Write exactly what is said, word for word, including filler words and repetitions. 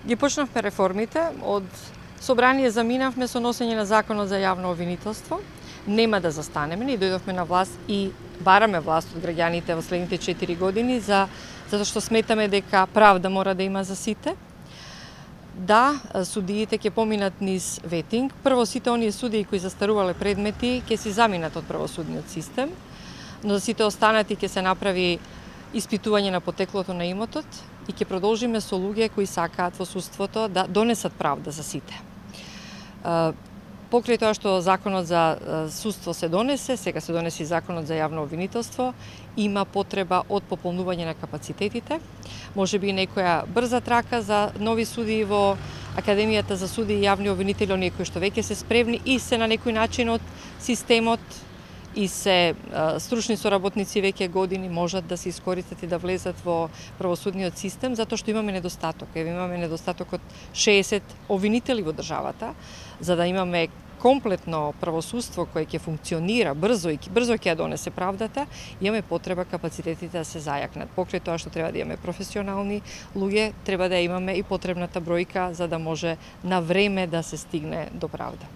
Ги почнавме реформите, од собрание заминавме со носење на законот за јавно обвинителство. Нема да застанеме, ние дојдовме на власт и бараме власт од граѓаните во следните четири години за затоа што сметаме дека правда мора да има за сите. Да, судиите ќе поминат низ ветинг. Прво, сите оние судии кои застарувале предмети ќе си заминат од правосудниот систем, но за сите останати ќе се направи испитување на потеклото на имотот и ќе продолжиме со луѓе кои сакаат во судството да донесат правда за сите. Покрај тоа што законот за судство се донесе, сега се донесе и законот за јавно обвинителство, има потреба од пополнување на капацитетите. Може би некоја брза трака за нови судии во Академијата за судии и јавни обвинители, оние кои што веќе се спремни и се на некој начин од системот и се стручни соработници веќе години можат да се искористат и да влезат во правосудниот систем, затоа што имаме недостаток. Еве имаме недостаток од шеесет обвинители во државата, за да имаме комплетно правосудство кое ќе функционира брзо и брзо ќе ја донесе правдата, имаме потреба капацитетите да се зајакнат. Покрај тоа што треба да имаме професионални луѓе, треба да имаме и потребната бројка за да може на време да се стигне до правда.